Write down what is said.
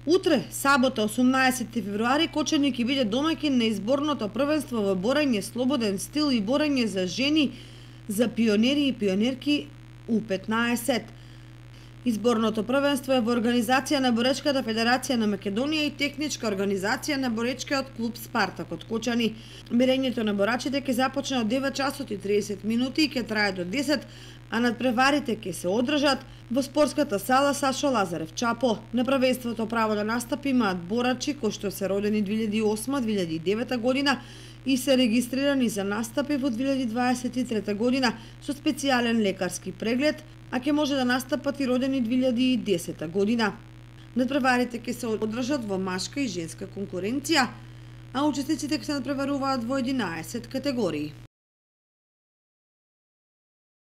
Утре, сабота 18 февруари, Кочани ќе биде домаќин на изборното првенство во борање слободен стил и борање за жени, за пионери и пионерки U15. Изборното првенство е во организација на Боречката федерација на Македонија и техничка организација на Боречкиот клуб Спартак од Кочани. Мерењето на борачите ќе започне од 9 часот и 30 минути и ќе трае до 10, а надпреварите ќе се одржат во спортската сала Сашо Лазарев Чапо. На првенството право да настапи имаат борачи кои што се родени 2008-2009 година и се регистрирани за настапи во 2023 година со специјален лекарски преглед, а ќе може да настапат и родени 2010 година. Надпреварите ќе се одржат во машка и женска конкуренција, а учесниците ќе се надпреваруваат во 11 категории.